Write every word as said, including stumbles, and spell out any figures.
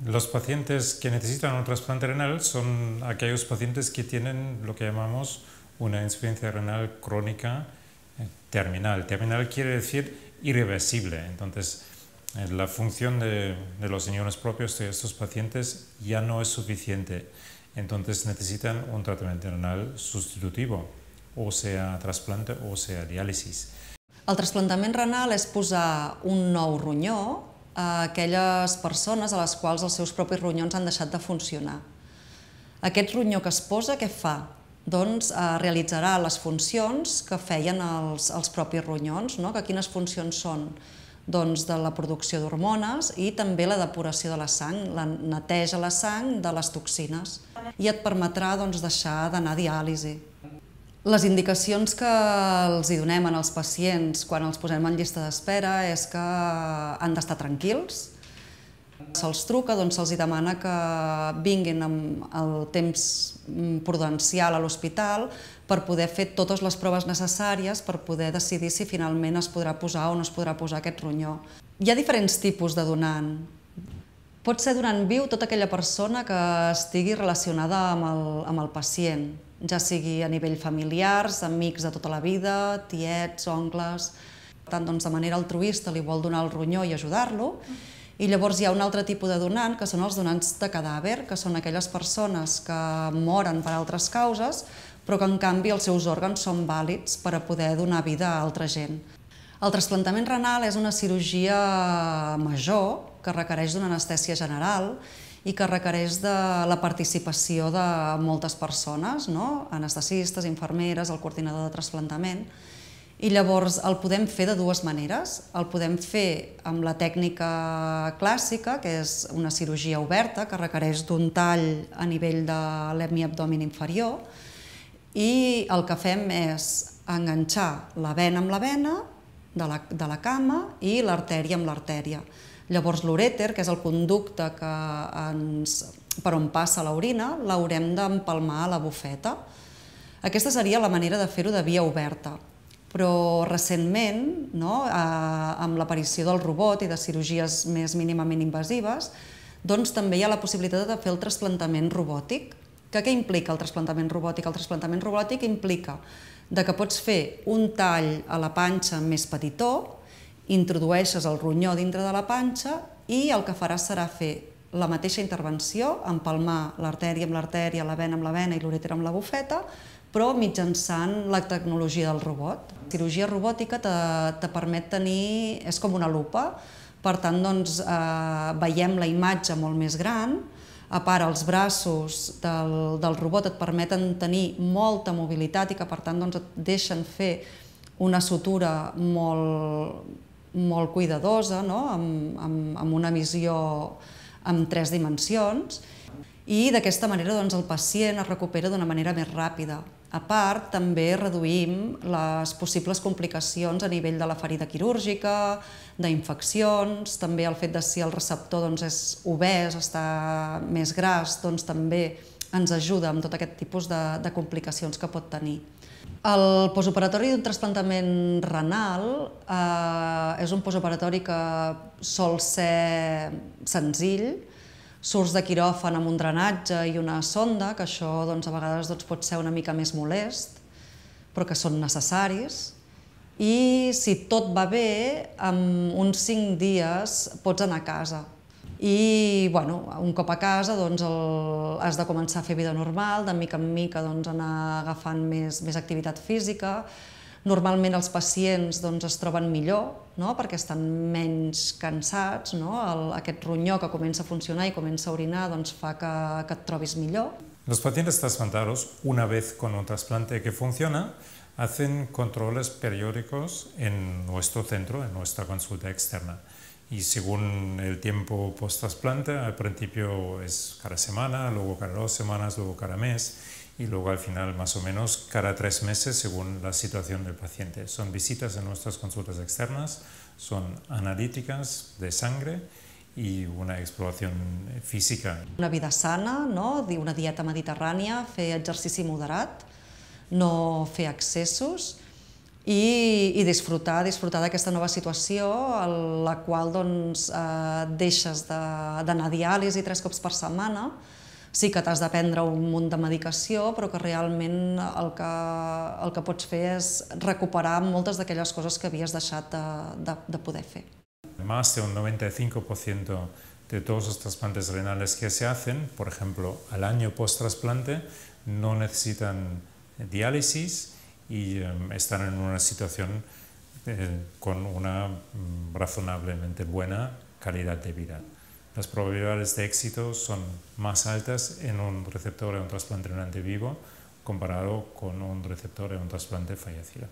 Los pacientes que necesitan un trasplante renal son aquellos pacientes que tienen lo que llamamos una insuficiencia renal crónica terminal. Terminal quiere decir irreversible. Entonces, la función de, de los riñones propios de estos pacientes ya no es suficiente. Entonces necesitan un tratamiento renal sustitutivo, o sea trasplante o sea diàlisis. El trasplantament renal és posar un nou ronyó a aquelles persones a les quals els seus propis ronyons han deixat de funcionar. Aquest ronyó que es posa, què fa? Doncs realitzarà les funcions que feien els, els propis ronyons, no? Que quines funcions són? Doncs de la producció d'hormones i també la depuració de la sang, la neteja la sang de les toxines. I et permetrà doncs, deixar d'anar a diàlisi. Les indicacions que els hi donem als pacients quan els posem en llista d'espera és que han d'estar tranquils. Se'ls truca, doncs se'ls demana que vinguin amb el temps prudencial a l'hospital per poder fer totes les proves necessàries per poder decidir si finalment es podrà posar o no es podrà posar aquest ronyó. Hi ha diferents tipus de donant. Pot ser donant viu tota aquella persona que estigui relacionada amb el, amb el pacient, ja sigui a nivell familiars, amics de tota la vida, tiets, oncles. Per tant, doncs, de manera altruista li vol donar el ronyó i ajudar-lo. I llavors hi ha un altre tipus de donant, que són els donants de cadàver, que són aquelles persones que moren per altres causes, però que en canvi els seus òrgans són vàlids per a poder donar vida a altra gent. El trasplantament renal és una cirurgia major que requereix d'una anestèsia general i que requereix de la participació de moltes persones, no? Anestesistes, infermeres, el coordinador de trasplantament. I llavors el podem fer de dues maneres. El podem fer amb la tècnica clàssica, que és una cirurgia oberta, que requereix d'un tall a nivell de l'hemiabdomen inferior, i el que fem és enganxar la vena amb la vena de la, de la cama i l'artèria amb l'artèria. Llavors l'urèter, que és el conducte que ens, per on passa l'orina, l'haurem d'empalmar a la bufeta. Aquesta seria la manera de fer-ho de via oberta. Però recentment, no, amb l'aparició del robot i de cirurgies més mínimament invasives, doncs també hi ha la possibilitat de fer el trasplantament robòtic. Que què implica el trasplantament robòtic? El trasplantament robòtic implica que pots fer un tall a la panxa més petitó, introdueixes el ronyó dintre de la panxa i el que faràs serà fer la mateixa intervenció, empalmar l'artèria amb l'artèria, la vena amb la vena i l'urèter amb la bufeta, però mitjançant la tecnologia del robot. La cirurgia robòtica te permet tenir, és com una lupa, per tant doncs veiem la imatge molt més gran, a part els braços del robot et permeten tenir molta mobilitat i que per tant et deixen fer una sutura molt cuidadosa, amb una visió en tres dimensions, i d'aquesta manera el pacient es recupera d'una manera més ràpida. A part, també reduïm les possibles complicacions a nivell de la ferida quirúrgica, d'infeccions, també el fet de si el receptor és obès, està més gras, també ens ajuda amb tot aquest tipus de complicacions que pot tenir. El postoperatori d'un trasplantament renal és un postoperatori que sol ser senzill. Surts de quiròfan amb un drenatge i una sonda, que això a vegades pot ser una mica més molest, però que són necessaris. I si tot va bé, en uns cinc dies pots anar a casa. I un cop a casa has de començar a fer vida normal, de mica en mica anar agafant més activitat física. Normalment els pacients es troben millor perquè estan menys cansats. Aquest ronyó que comença a funcionar i comença a orinar fa que et trobis millor. Los pacientes trasplantados, una vez con un trasplante que funciona, hacen controles periódicos en nuestro centro, en nuestra consulta externa. Y según el tiempo post-trasplante, al principio es cada semana, luego cada dos semanas, luego cada mes, y luego al final más o menos cada tres meses según la situación del paciente. Son visitas en nuestras consultas externas, son analíticas de sangre y una exploración física. Una vida sana, una dieta mediterrània, fer exercici moderat, no fer excessos i, i disfrutar, disfrutar d'aquesta nova situació en la qual doncs, eh, deixes d'anar a diàlisi tres cops per setmana. Sí que t'has de prendre un munt de medicació, però que realment el que, el que pots fer és recuperar moltes d'aquelles coses que havies deixat de, de, de poder fer. Más de un noventa y cinco por ciento de todos los trasplantes renales que se hacen, por ejemplo, al año post-trasplante, no necesitan diálisis y um, están en una situación eh, con una um, razonablemente buena calidad de vida. Las probabilidades de éxito son más altas en un receptor de un trasplante renal vivo comparado con un receptor de un trasplante fallecido.